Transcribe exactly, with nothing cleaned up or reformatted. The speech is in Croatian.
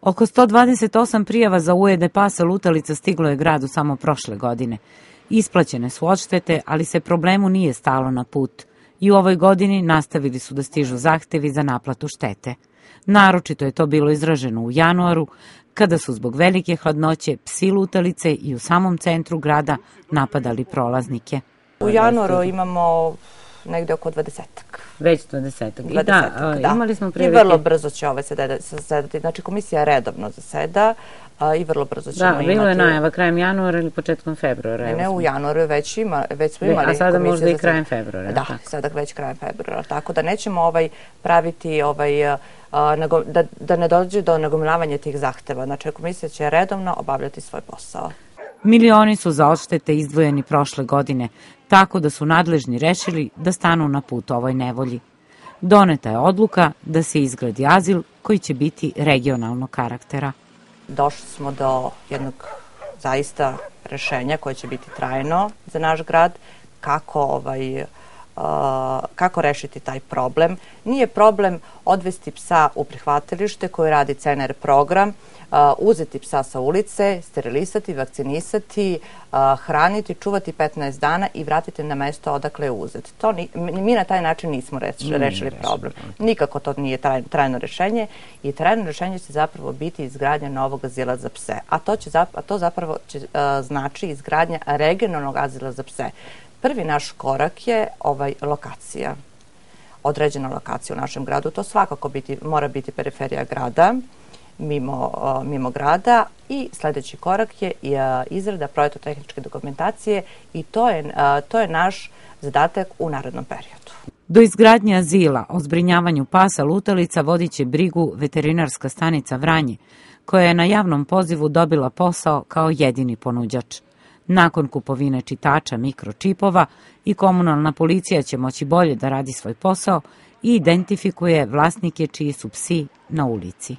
Oko sto dvadeset osam prijava za ujede pasa lutalica stiglo je gradu samo prošle godine. Isplaćene su odštete, ali se problemu nije stalo na put. I u ovoj godini nastavili su da stižu zahtevi za naplatu štete. Naročito je to bilo izraženo u januaru, kada su zbog velike hladnoće psi lutalice i u samom centru grada napadali prolaznike. U januaru imamo negde oko dvadesetak. Već dvadesetak. I da, imali smo prilike... I vrlo brzo će ovaj zasedati. Znači, komisija redovno zaseda i vrlo brzo ćemo imati... Da, bilo je najava krajem januara ili početkom februara. Ne, ne, u januaru već ima, već smo imali... A sada možda i krajem februara. Da, sada već krajem februara. Tako da nećemo ovaj praviti ovaj... Da, da ne dođe do nagomilavanja tih zahteva. Znači, komisija će redovno obavljati svoj posao. Milioni su za odštete izdvojeni prošle godine, tako da su nadležni rešili da stanu na put ovoj nevolji. Doneta je odluka da se izgradi azil koji će biti regionalnog karaktera. Došli smo do jednog zaista rešenja koje će biti trajno za naš grad, kako ovaj... Uh, kako rešiti taj problem. Nije problem odvesti psa u prihvatilište koji radi C N R program, uh, uzeti psa sa ulice, sterilisati, vakcinisati, uh, hraniti, čuvati petnaest dana i vratiti na mesto odakle je uzet. To ni, mi na taj način nismo rešili, rešili problem. Nikako to nije traj, trajno rešenje i trajno rešenje će zapravo biti izgradnja novog azila za pse. A to, će, a to zapravo će, uh, znači izgradnja regionalnog azila za pse. Prvi naš korak je ovaj lokacija, određena lokacija u našem gradu. To svakako biti, mora biti periferija grada, mimo, mimo grada i sljedeći korak je izrada projektno-tehničke dokumentacije i to je, to je naš zadatak u narednom periodu. Do izgradnje azila o zbrinjavanju pasa lutalica vodit će brigu veterinarska stanica Vranje, koja je na javnom pozivu dobila posao kao jedini ponuđač. Nakon kupovine čitača mikročipova i komunalna policija će moći bolje da radi svoj posao i identifikuje vlasnike čiji su psi na ulici.